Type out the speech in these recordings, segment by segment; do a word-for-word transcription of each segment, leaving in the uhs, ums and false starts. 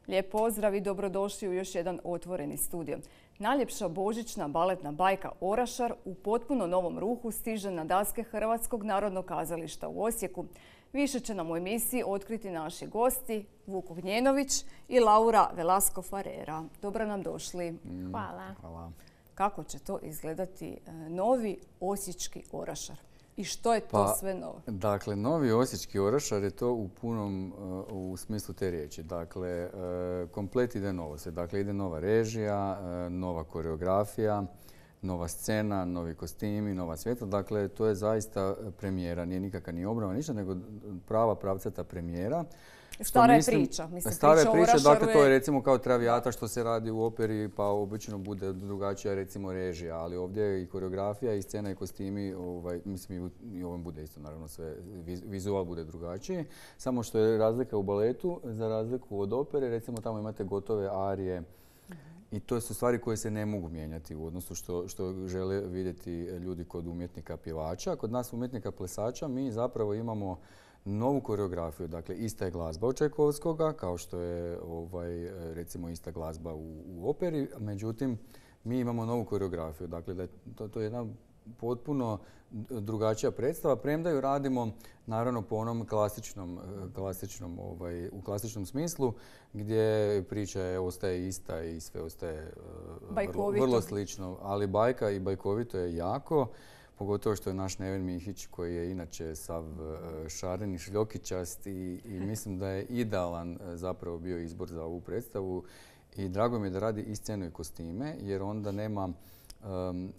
Lijep pozdrav i dobrodošli u još jedan otvoreni studio. Najljepša božićna baletna bajka Orašar u potpuno novom ruhu stiže na daske Hrvatskog narodnog kazališta u Osijeku. Više će nam u emisiji otkriti naši gosti Vuk Ognjenović i Laura Velasco Farera. Dobro nam došli. Mm, hvala. hvala. Kako će to izgledati novi osječki Orašar? I što je to pa, sve novo? Dakle, novi osječki Orašar je to u punom uh, u smislu te riječi. Dakle, uh, komplet ide novo se. Dakle, ide nova režija, uh, nova koreografija, nova scena, novi kostimi, nova svjetla. Dakle, to je zaista premijera. Nije nikakva ni obnova, ništa, nego prava pravcata premijera. Stara je priča. Mislim, stara je priča, priča, dakle to je recimo kao Traviata što se radi u operi, pa obično bude drugačija recimo režija, ali ovdje je i koreografija i scena i kostimi, ovaj, mislim i ovom bude isto naravno sve, vizual bude drugačiji. Samo što je razlika u baletu, za razliku od opere, recimo tamo imate gotove arije i to su stvari koje se ne mogu mijenjati u odnosu što, što žele vidjeti ljudi kod umjetnika pjevača. Kod nas umjetnika plesača mi zapravo imamo novu koreografiju, dakle ista je glazba od Čajkovskoga, kao što je ovaj, recimo ista glazba u, u operi, međutim mi imamo novu koreografiju, dakle da je to, to je jedna potpuno drugačija predstava, premda ju radimo naravno po onom klasičnom, klasičnom ovaj, u klasičnom smislu gdje priča je, ostaje ista i sve ostaje vrlo, vrlo slično, ali bajka i bajkovito je jako. Pogotovo što je naš Neven Mihić koji je inače sav šaren i šljokičast i, i mislim da je idealan zapravo bio izbor za ovu predstavu i drago mi je da radi i scenu i kostime jer onda nema, um,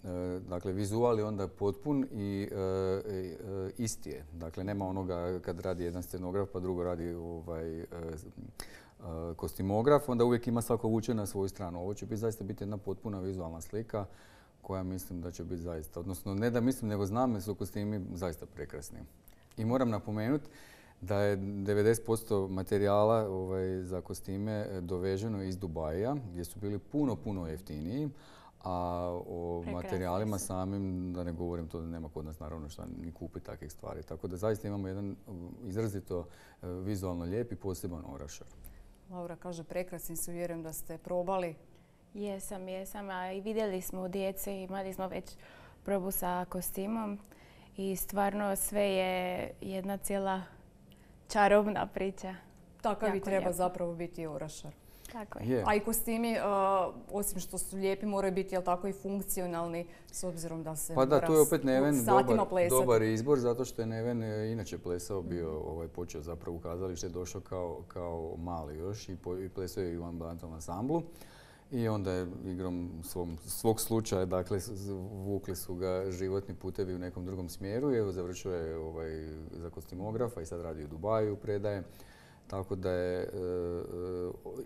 dakle vizual je onda potpun i uh, isti je. Dakle nema onoga kad radi jedan scenograf pa drugo radi ovaj, uh, uh, kostimograf, onda uvijek ima svako vuče na svoju stranu. Ovo će biti zaista biti jedna potpuna vizualna slika koja mislim da će biti zaista, odnosno ne da mislim nego znam da su kostimi zaista prekrasni. I moram napomenuti da je devedeset posto materijala ovaj, za kostime doveženo iz Dubaija gdje su bili puno, puno jeftiniji, a o prekrasni materijalima su samim, da ne govorim to da nema kod nas naravno šta ni kupiti takvih stvari. Tako da zaista imamo jedan izrazito vizualno lijep i poseban Orašar. Laura kaže prekrasni su, vjerujem da ste probali. Jesam, jesam. A i vidjeli smo u djeci, imali smo već probu sa kostimom i stvarno sve je jedna cijela čarobna priča. Takav i treba zapravo biti Orašar. Tako je. Yeah. A i kostimi, uh, osim što su lijepi, moraju biti jel tako i funkcionalni s obzirom da se pa da, tu je opet Neven dobar, dobar izbor zato što je Neven inače plesao bio, ovaj, počeo zapravo u kazalište, došao kao, kao mali još i, po, i plesao je i u ambulantom ansamblu. I onda je igrom svom, svog slučaja, dakle, vukli su ga životni putevi u nekom drugom smjeru i evo završio je ovaj, za kostimografa i sad radi u Dubaju, predaje. Tako da je e,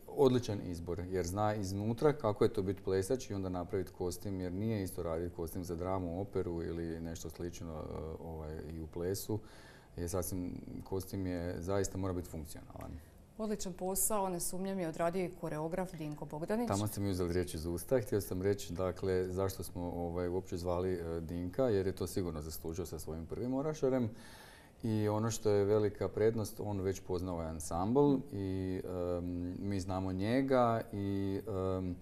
odličan izbor jer zna iznutra kako je to biti plesač i onda napraviti kostim jer nije isto raditi kostim za dramu, operu ili nešto slično ovaj, i u plesu. Jer sasvim kostim je zaista mora biti funkcionalan. Odličan posao, ne sumnjam je odradio i koreograf Dinko Bogdanić. Tamo ste mi uzeli riječ iz usta. Htio sam reći dakle, zašto smo ovaj, uopće zvali uh, Dinka, jer je to sigurno zaslužio sa svojim prvim Orašarem. I ono što je velika prednost, on već poznao ovaj ansambl i um, mi znamo njega i um,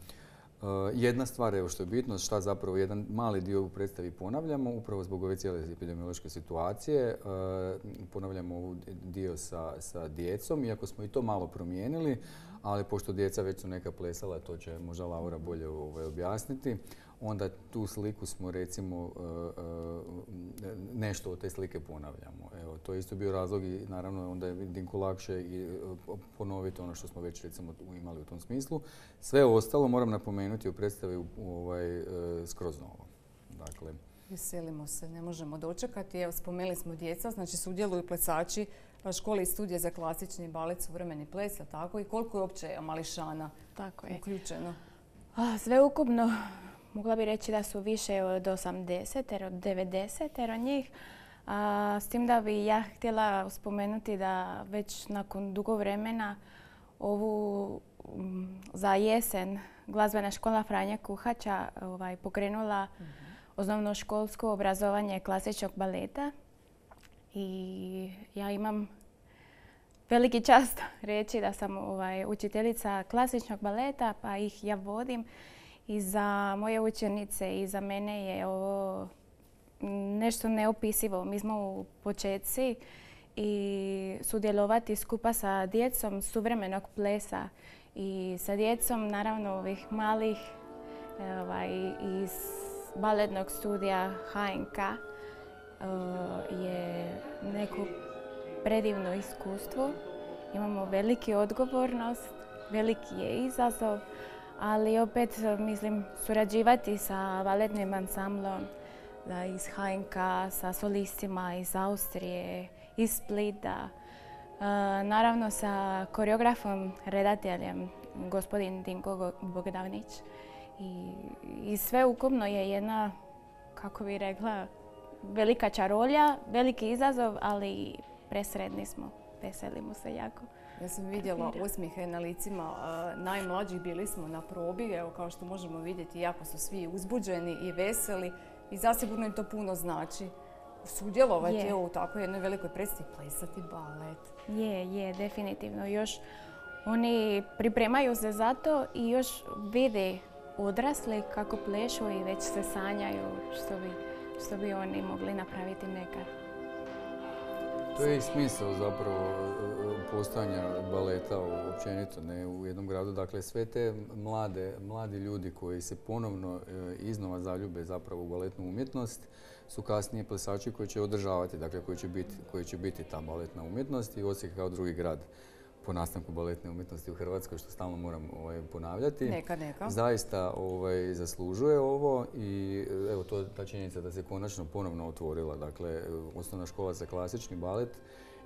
Uh, jedna stvar, evo što je bitno, šta zapravo jedan mali dio u predstavi ponavljamo, upravo zbog ove cijele epidemiološke situacije. Uh, ponavljamo ovu dio sa, sa djecom, iako smo i to malo promijenili, ali pošto djeca već su neka plesala, to će možda Laura bolje ovaj, objasniti, onda tu sliku smo recimo uh, uh, nešto od te slike ponavljamo. Evo, to je isto bio razlog i naravno onda je Dinku lakše i uh, ponoviti ono što smo već recimo imali u tom smislu. Sve ostalo moram napomenuti u predstavi u, u, ovaj, uh, skroz novo. Dakle, veselimo se, ne možemo dočekati. Evo, spomenuli smo djeca, znači sudjeluju plesači škole i studije za klasični balet, suvremeni ples, tako i koliko je uopće mališana tako je uključeno? A, sve ukupno mogla bi reći da su više od osamdeset, od devedeset njih. A, s tim da bi ja htjela spomenuti da već nakon dugo vremena ovu um, za jesen glazbena škola Franja Kuhača ovaj, pokrenula mm-hmm. osnovnoškolsko obrazovanje klasičnog baleta. I ja imam veliki čast reći da sam ovaj, učiteljica klasičnog baleta, pa ih ja vodim. I za moje učenice i za mene je ovo nešto neopisivo. Mi smo u početci i sudjelovati skupa sa djecom suvremenog plesa i sa djecom naravno ovih malih ovaj, iz baletnog studija H N K je neko predivno iskustvo. Imamo veliki odgovornost, veliki je izazov, ali opet mislim surađivati sa baletnim ansamblom iz H N K, sa solistima iz Austrije, iz Splita, naravno sa koreografom, redateljem, gospodin Dinko Bogdanić. I, i sve ukupno je jedna, kako bi rekla, velika čarolja, veliki izazov, ali presretni smo, veselimo se jako. Ja sam vidjela osmijehe na licima najmlađih, bili smo na probi, evo kao što možemo vidjeti, jako su svi uzbuđeni i veseli i zasigurno im to puno znači. Sudjelovati je u takvoj jednoj velikoj predstavi, plesati balet. Je, je, definitivno. Još oni pripremaju se za to i još vide odrasli kako plešu i već se sanjaju što bi, što bi oni mogli napraviti nekad. To je i smisao zapravo postojanja baleta općenito ne, u jednom gradu. Dakle, sve te mlade, mladi ljudi koji se ponovno e, iznova zaljube zapravo u baletnu umjetnost su kasnije plesači koji će održavati, dakle koji će biti, koji će biti ta baletna umjetnost i Osijek kao drugi grad po nastanku baletne umjetnosti u Hrvatskoj, što stalno moram ovaj, ponavljati. Neka, neka. Zaista ovaj, zaslužuje ovo i evo to ta činjenica da se konačno ponovno otvorila. Dakle, osnovna škola za klasični balet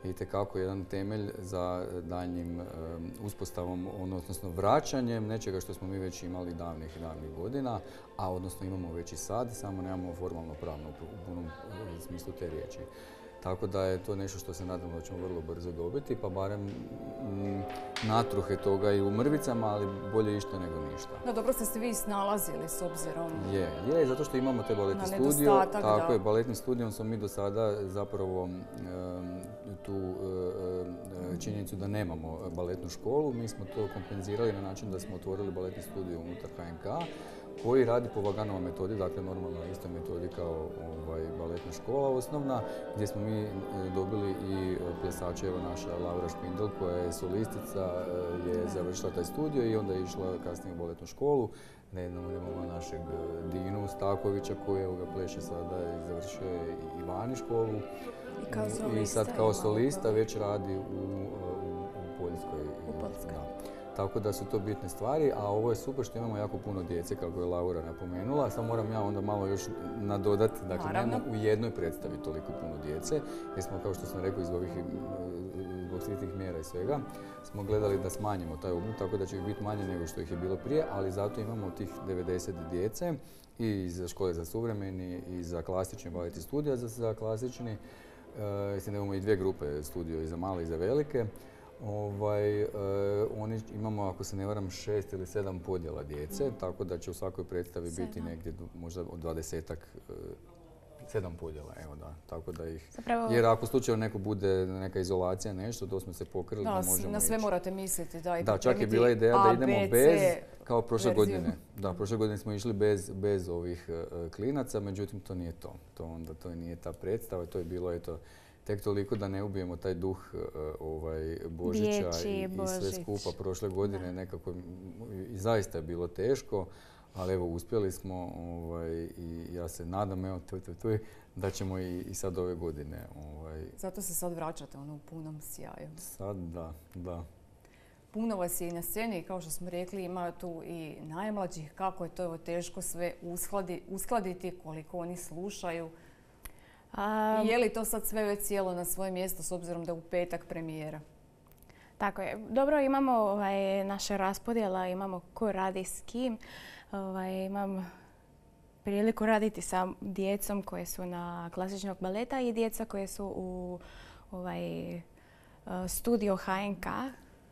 je itekako jedan temelj za daljnjim um, uspostavom, odnosno vraćanjem nečega što smo mi već imali davnih i davnih godina, a odnosno imamo već i sad, samo nemamo formalno pravno u punom smislu te riječi. Tako da je to nešto što se nadamo da ćemo vrlo brzo dobiti, pa barem mm, natruhe toga i u mrvicama, ali bolje išta nego ništa. No dobro ste se vi snalazili s obzirom. Je, je, zato što imamo te baletni studio. Tako je, baletni studijom smo mi do sada zapravo um, tu um, činjenicu da nemamo baletnu školu. Mi smo to kompenzirali na način da smo otvorili baletni studio unutar H N K koji radi po Vaganova metodi, dakle normalno na istoj metodi kao ovaj, baletna škola osnovna, gdje smo mi dobili i plesače, evo naša Laura Špindel koja je solistica, je završila taj studio i onda je išla kasnije u baletnu školu. Nejednom imamo našeg Dinu Stakovića koji evo ga pleše sada i završio je i Vani školu. I, kao solista, I sad kao solista već radi u, u, u Poljskoj. U Poljskoj. Tako da su to bitne stvari, a ovo je super što imamo jako puno djece, kako je Laura napomenula. Samo moram ja onda malo još nadodati, dakle nemamo u jednoj predstavi toliko puno djece, jer smo, kao što sam rekao, iz ovih zbog svih tih mjera i svega, smo gledali da smanjimo taj obim, tako da će ih biti manje nego što ih je bilo prije, ali zato imamo tih devedeset djece i za škole za suvremeni i za klasični balet i studija za, za klasični. E, imamo i dvije grupe, studio i za male i za velike. Ovaj, e, oni imamo, ako se ne varam, šest ili sedam podjela djece, tako da će u svakoj predstavi sedam. Biti negdje možda od dvadesetak, e, sedam podjela, evo da, tako da ih... Zapravo... Jer ako slučajno neko bude neka izolacija, nešto, to smo se pokrili da, da možemo na sve ići. Morate misliti, da, i da, čak je bila ideja da idemo bez, kao prošle godine. Da, prošle godine smo išli bez, bez ovih uh, klinaca, međutim to nije to. To onda to nije ta predstava, to je bilo eto tek toliko da ne ubijemo taj duh uh, ovaj, Božića i, i sve skupa prošle godine. Nekako i zaista je bilo teško, ali evo uspjeli smo ovaj, i ja se nadam evo, tu, tu, tu, da ćemo i, i sad ove godine. Ovaj. Zato se sad vraćate ono u punom sjaju. Sad da, da. Puno vas je i na sceni, kao što smo rekli, ima tu i najmlađih. Kako je to evo, teško sve uskladi, uskladiti, koliko oni slušaju. A... I je li to sad sve već sjelo na svoje mjesto s obzirom da je u petak premijera? Tako je. Dobro, imamo ovaj, naše raspodjela, imamo ko radi s kim. Ovaj, imam priliku raditi sa djecom koje su na klasičnog baleta i djeca koje su u ovaj, studio H N K.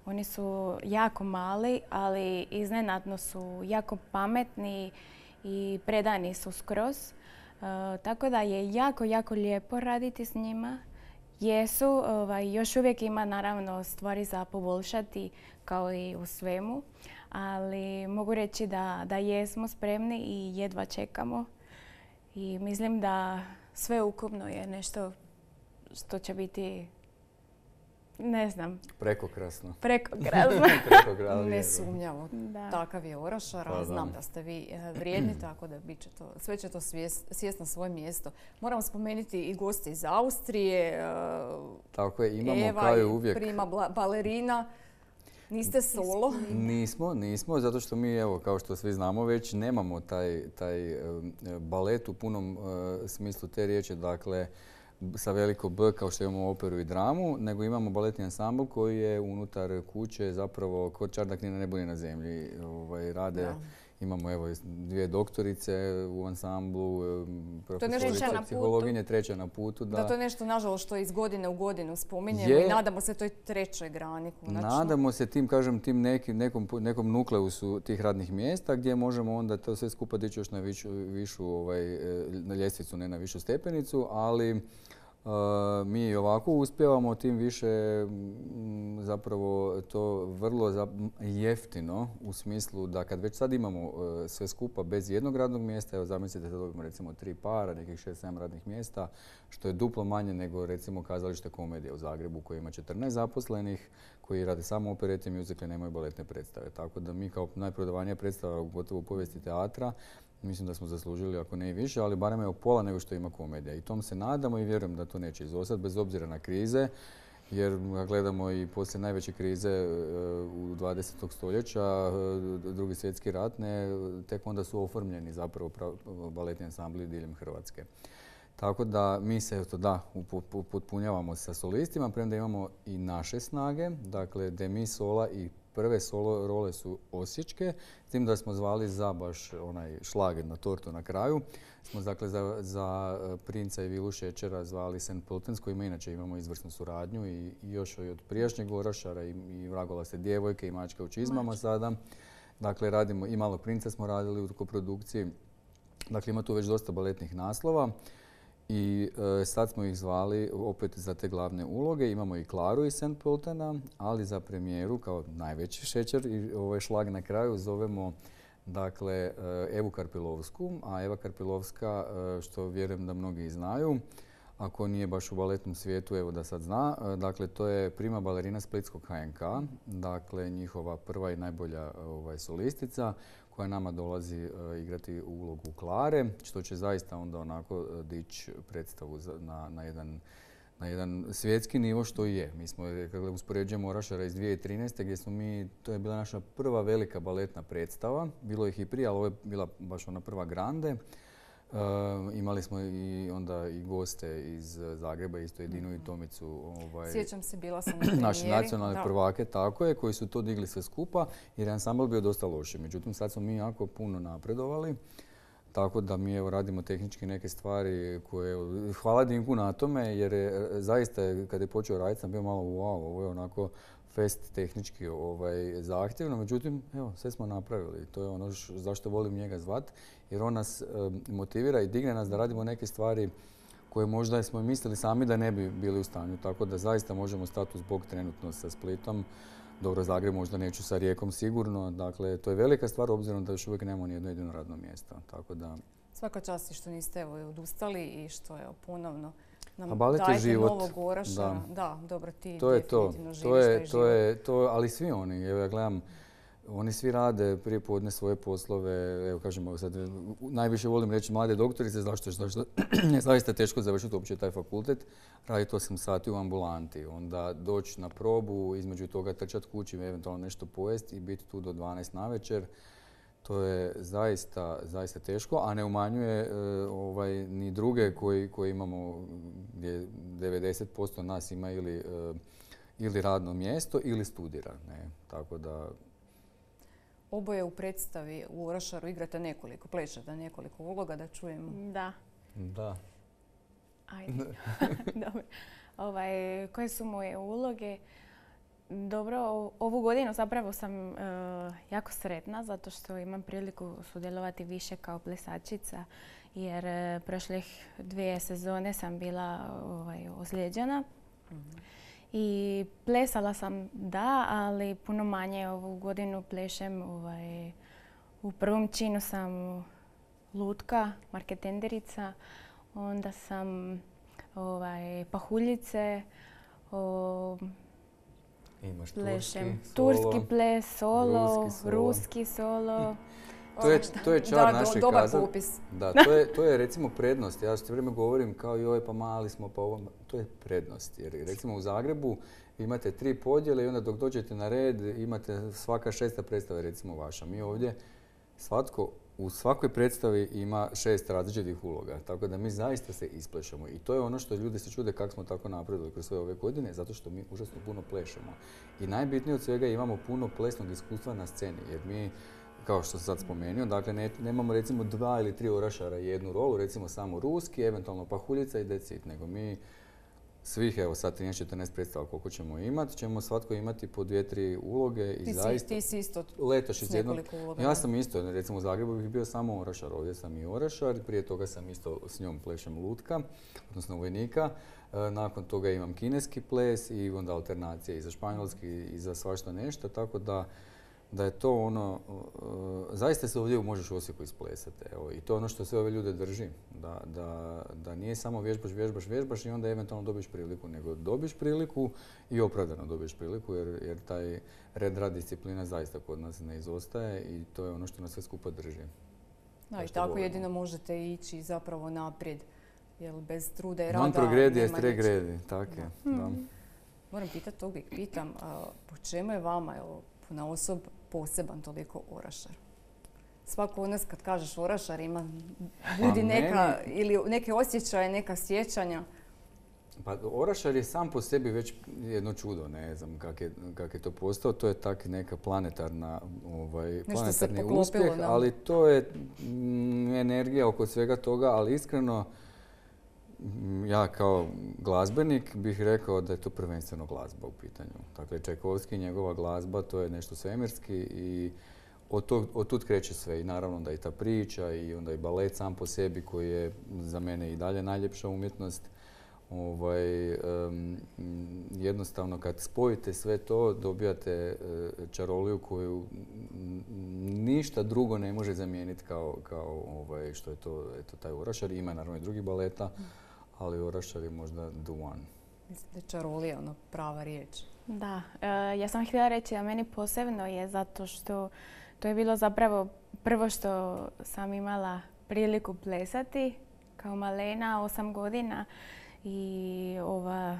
Oni su jako mali, ali iznenadno su jako pametni i predani su skroz. E, tako da je jako, jako lijepo raditi s njima. Jesu, ovaj, još uvijek ima naravno stvari za poboljšati kao i u svemu, ali mogu reći da, da jesmo spremni i jedva čekamo. I mislim da sve ukupno je nešto što će biti, ne znam. Prekokrasno. Prekokrasno. Nesumnjavo. Takav je Orašar, a znam da ste vi vrijedni, tako da bit će to, sve će to sjest na svoje mjesto. Moram spomenuti i gosti iz Austrije. Tako je, imamo Eva kao i uvijek. Prima balerina. Niste solo? Nismo, nismo, zato što mi, evo, kao što svi znamo već, nemamo taj, taj balet u punom uh, smislu te riječi, dakle, sa veliko B kao što imamo operu i dramu, nego imamo baletni ansambl koji je unutar kuće zapravo kod Čardak ni na nebu ni na zemlji. Ovaj, rade, da. Imamo evo dvije doktorice u ansamblu, profesorica psihologinje, treća na putu. Da, da to je nešto, nažalost, što iz godine u godinu spominjemo je, i nadamo se toj trećoj grani konačno. Nadamo se tim, kažem, tim nekim, nekom, nekom nukleusu tih radnih mjesta gdje možemo onda to sve skupa dići još na višu, višu ovaj, na ljestvicu, ne na višu stepenicu, ali Uh, mi i ovako uspijevamo, tim više m, zapravo to vrlo za, jeftino u smislu da kad već sad imamo uh, sve skupa bez jednog radnog mjesta, evo zamislite da dobijemo recimo tri para, nekih šest sedam radnih mjesta, što je duplo manje nego recimo Kazalište Komedije u Zagrebu koji ima četrnaest zaposlenih, koji rade samo operete, muzikle, nemaju baletne predstave. Tako da mi kao najprodavanija predstava gotovo u povijesti teatra, mislim da smo zaslužili, ako ne i više, ali barem je pola nego što ima komedija. I tom se nadamo i vjerujem da to neće izostati, bez obzira na krize, jer gledamo i poslije najveće krize u dvadesetog stoljeća, Drugi svjetski rat, ne, tek onda su oformljeni zapravo baletni ansambli diljem Hrvatske. Tako da mi se eto, da, upotpunjavamo sa solistima, premda imamo i naše snage, dakle demi sola i prve solo role su osječke, s tim da smo zvali za baš onaj šlager na tortu na kraju. Smo dakle za, za Princa i Vilu Šećera zvali Saint Pölten, s kojima inače imamo izvrsnu suradnju i, i još od prijašnjeg Orašara i, i Vragola se djevojke i Mačka u čizmama Mač. Sada. Dakle, radimo i Malog princa smo radili u koprodukciji. Dakle, ima tu već dosta baletnih naslova. I e, sad smo ih zvali opet za te glavne uloge. Imamo i Klaru iz Saint Pöltena, ali za premijeru kao najveći šećer i ovaj šlag na kraju zovemo dakle Evu Karpilovsku. A Eva Karpilovska, što vjerujem da mnogi znaju, ako nije baš u baletnom svijetu, evo da sad zna, dakle to je prima balerina Splitskog H N K, dakle njihova prva i najbolja ovaj, solistica, koja nama dolazi uh, igrati u ulogu Klare, što će zaista onda onako uh, dići predstavu za, na, na, jedan, na jedan svjetski nivo što i je. Mi smo, kada uspoređujemo Orašara iz dvije tisuće trinaeste. gdje smo mi, to je bila naša prva velika baletna predstava, bilo ih i prije, ali ovo je bila baš ona prva grande. Uh, imali smo i onda i goste iz Zagreba, isto Edinu i Tomicu. Ovaj, Sjećam se, bila sam na premijeri. Naši nacionalne prvake, tako je, koji su to digli sve skupa jer je ansambl bio dosta loši. Međutim, sad smo mi jako puno napredovali, tako da mi evo radimo tehnički neke stvari koje, hvala Dinku na tome, jer je zaista, kad je počeo raditi, sam bio malo wow, ovo je onako fest tehnički ovaj, zahtjevno, međutim, evo, sve smo napravili. To je ono š, zašto volim njega zvat, jer on nas e, motivira i digne nas da radimo neke stvari koje možda smo mislili sami da ne bi bili u stanju. Tako da zaista možemo stati uz bok trenutno sa Splitom. Dobro, Zagreb možda neću, sa Rijekom sigurno. Dakle, to je velika stvar obzirom da još uvijek nemamo ni jedno jedino radno mjesto. Tako da... Svaka čast i što niste evo, odustali i što je ponovno nam balet je dajete život. Novog Orašara. Da. Da, dobro, ti to je definitivno to. živiš to je, taj to je, to, ali svi oni, evo ja gledam, oni svi rade prije podne svoje poslove, evo kažemo sad, najviše volim reći mlade doktorice, zašto, zašto je zaista teško završiti uopće taj fakultet, raditi osam sati u ambulanti, onda doći na probu, između toga trčati kući, eventualno nešto pojesti i biti tu do dvanaest navečer. To je zaista, zaista teško, a ne umanjuje e, ovaj, ni druge koji, koji imamo, gdje devedeset posto nas ima ili, e, ili radno mjesto ili studira. Ne? Tako da... Oboje u predstavi u Orašaru igrate nekoliko, plešate nekoliko uloga, da čujemo. Da. Da. Ajde. Dobro. Ovaj, koje su moje uloge? dobro, o- ovu godinu zapravo sam e, jako sretna zato što imam priliku sudjelovati više kao plesačica jer e, prošlih dvije sezone sam bila ovaj, ozlijeđena. I plesala sam, da, ali puno manje ovu godinu plešem. Ovaj, u prvom činu sam lutka, marketenderica, onda sam ovaj, pahuljice, o, Imaš plešem turski, solo. turski ples, solo, ruski solo. ruski solo. To je, to je čar Da, do- našeg dobar kazališta. popis. Da, to je, to je recimo prednost. Ja što vrijeme govorim kao joj pa mali smo pa ovo, to je prednost. Jer recimo u Zagrebu imate tri podjele i onda dok dođete na red imate svaka šesta predstava recimo vaša. Mi ovdje svatko u svakoj predstavi ima šest različitih uloga, tako da mi zaista se isplešemo. I to je ono što ljudi se čude kako smo tako napredili kroz sve ove godine, zato što mi užasno puno plešemo. I najbitnije od svega imamo puno plesnog iskustva na sceni, jer mi, kao što sam sad spomenuo, dakle ne, nemamo recimo dva ili tri orašara i jednu rolu, recimo samo ruski, eventualno pahuljica i that's it, nego mi svih, evo sad trinaest četrnaest predstava koliko ćemo imati, ćemo svatko imati po dvije, tri uloge i Ti si, zaista... ti si isto Letoš s iz jednog... nekoliko uloga. Ja sam isto, recimo u Zagrebu bih bio samo orašar, ovdje sam i orašar, prije toga sam isto s njom plešem lutka, odnosno vojnika. E, nakon toga imam kineski ples i onda alternacije i za španjolski i za svašta nešto, tako da da je to ono, uh, zaista se ovdje možeš u Osijeku isplesati. Evo, i to je ono što sve ove ljude drži. Da, da, da nije samo vježbaš, vježbaš, vježbaš i onda eventualno dobiješ priliku, nego dobiš priliku i opravdano dobiješ priliku jer, jer taj red rad disciplina zaista kod nas ne izostaje i to je ono što nas sve skupa drži. Da, i što tako volimo. jedino možete ići zapravo naprijed. Jer bez truda i rada Non progredi nema est re ničeg. gredi, tako je. Da. Moram pitati, to uvijek pitam, a, po čemu je vama, evo, na osob poseban toliko orašar? Svako od nas kad kažeš orašar ima budi Pa neka, ili neke osjećaje, neka sjećanja. Pa orašar je sam po sebi već jedno čudo, ne znam kak je, kak je to postao. To je tak neka planetarna, ovaj, se planetarni poklopilo, uspjeh, da. ali to je mm, energija oko svega toga, ali iskreno mm, ja kao glazbenik bih rekao da je to prvenstveno glazba u pitanju. Dakle, Čajkovski i njegova glazba, to je nešto svemirski i od, tog, od tud kreće sve. I naravno da i ta priča i onda i balet sam po sebi koji je za mene i dalje najljepša umjetnost. Ovaj, um, jednostavno kad spojite sve to dobijate uh, čaroliju koju ništa drugo ne može zamijeniti kao, kao ovaj, što je to eto, taj orašar. Ima naravno i drugih baleta, ali orašar je možda the one. Mislim da je čarolija ono prava riječ. Da, e, ja sam htjela reći da meni posebno je zato što to je bilo zapravo prvo što sam imala priliku plesati kao malena, osam godina. I ova,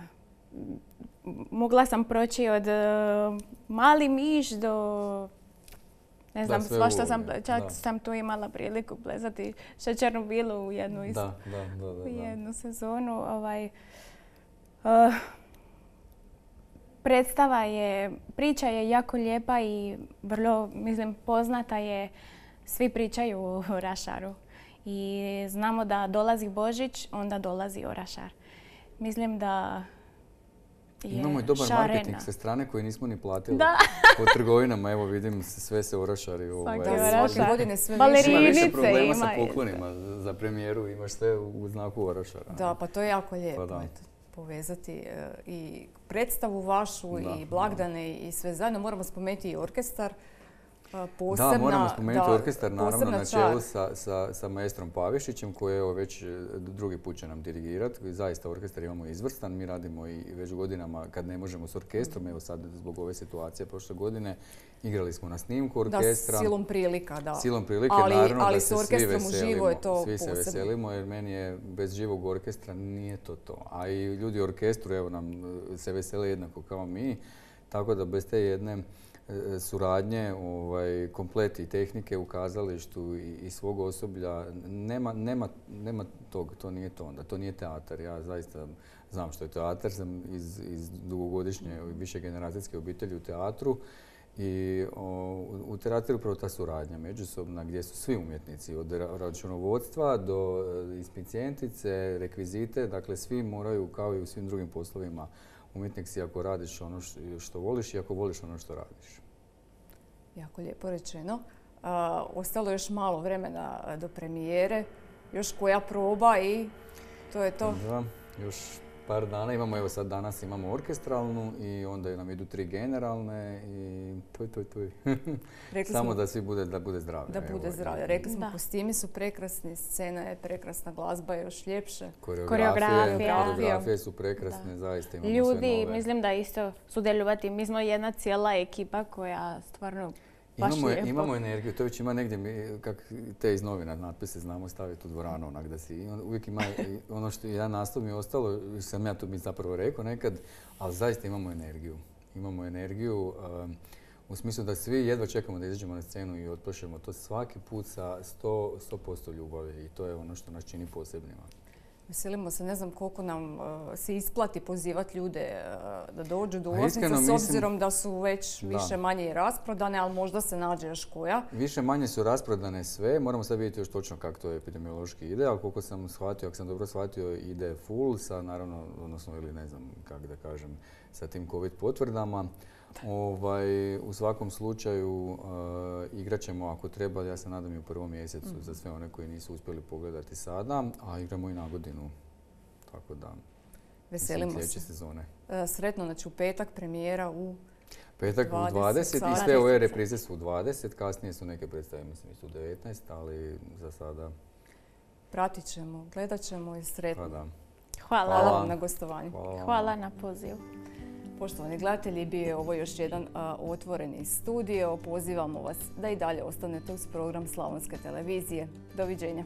mogla sam proći od uh, mali miš do, ne znam, Da, sve svašta sam, uloge, čak da. sam tu imala priliku plesati šećernu bilu u jednu, iz, Da, da, da, da, u da. jednu sezonu. Ovaj, uh, predstava je, priča je jako lijepa i vrlo, mislim, poznata je, svi pričaju o orašaru. I znamo da dolazi Božić, onda dolazi orašar. Mislim da je Imamo i dobar šarena. marketing sa strane koji nismo ni platili. Da. Po trgovinama, evo vidim, sve se orašari. Ovaj, Svaki Da, orašar. svake godine sve Balerine. više. Ima više Rinice problema sa ima. poklonima za premijeru, imaš sve u znaku orašara. Da, pa to je jako lijepo. Pa da. Eto, povezati e, i predstavu vašu Da, i blagdane i sve zajedno. Moramo spomenuti i orkestar. e, Posebna, Da, moramo spomenuti da, orkestar, naravno, posebna na čar. čelu sa, sa, sa maestrom Pavišićem, koji evo već e, drugi put će nam dirigirati. Zaista orkestar imamo izvrstan, mi radimo i već godinama kad ne možemo s orkestrom, evo sad zbog ove situacije prošle godine, igrali smo na snimku orkestra. Da, silom prilika, da. Silom prilike, Ali- naravno ali da s se svi orkestrom veselimo. uživo je to svi se posebno. veselimo jer meni je bez živog orkestra nije to to. A i ljudi u orkestru evo nam e, se vesele jednako kao mi. Tako da bez te jedne e, suradnje, ovaj, komplet i tehnike u kazalištu i, i svog osoblja, nema, nema, nema tog, to nije to onda, to nije teatar. Ja zaista znam što je teatar, sam iz, iz dugogodišnje višegeneracijske obitelji u teatru. I o, u teatru je upravo ta suradnja međusobna gdje su svi umjetnici, od ra- računovodstva do e, inspicijentice, rekvizite, dakle svi moraju kao i u svim drugim poslovima umjetnik si ako radiš ono što, što voliš i ako voliš ono što radiš. Jako lijepo rečeno. A, ostalo je još malo vremena do premijere, još koja proba i to je to. Da, još par dana imamo, evo sad danas imamo orkestralnu i onda nam idu tri generalne i tuj, tuj, tuj. Samo smo, da svi bude, da bude zdravlje. Da bude evo, zdravlje. i- Rekli smo, Da. kostimi su prekrasni, scena je prekrasna, glazba je još ljepše. Koreografija. Koreografije su prekrasne, zaista imamo sve Ljudi, nove. mislim da isto sudjelovati. Mi smo jedna cijela ekipa koja stvarno baš Imamo, lijepo. imamo energiju, to već ima negdje, mi, kak te iz novina natpise znamo staviti u dvoranu, onak da si, i on- uvijek ima i ono što jedan nastup mi je ostalo, sam ja to mi zapravo rekao nekad, ali zaista imamo energiju. Imamo energiju um, u smislu da svi jedva čekamo da izađemo na scenu i otpošljemo to svaki put sa sto posto ljubavi i to je ono što nas čini posebnima. Veselimo se, ne znam koliko nam uh, se isplati pozivati ljude uh, da dođu do Pa ulaznica, iskreno s mislim- obzirom da su već Da. više manje i rasprodane, ali možda se nađe još koja. Više manje su rasprodane sve, moramo sad vidjeti još točno kako to epidemiološki ide, ali koliko sam shvatio, ako sam dobro shvatio, ide full sa naravno, odnosno ili ne znam kako da kažem, sa tim covid potvrdama. Ovaj, u svakom slučaju uh, igrat ćemo ako treba, ja se nadam i u prvom mjesecu Mhm. za sve one koji nisu uspjeli pogledati sada, a igramo i na godinu. Tako da, mislim, Veselimo sljedeće se. sezone. Uh, sretno, znači u petak premijera u Petak u dvadeset dvadeset i sati. sve ove reprize su u dvadeset, kasnije su neke predstave, mislim, su u devetnaest, ali za sada, pratit ćemo, gledat ćemo i sretno. pa da. Hvala. Hvala Hvala. vam na gostovanju. Hvala vam. Hvala na pozivu. Poštovani gledatelji, bio je ovo još jedan a, otvoreni studio. Pozivamo vas da i dalje ostanete uz program Slavonske televizije. Doviđenja.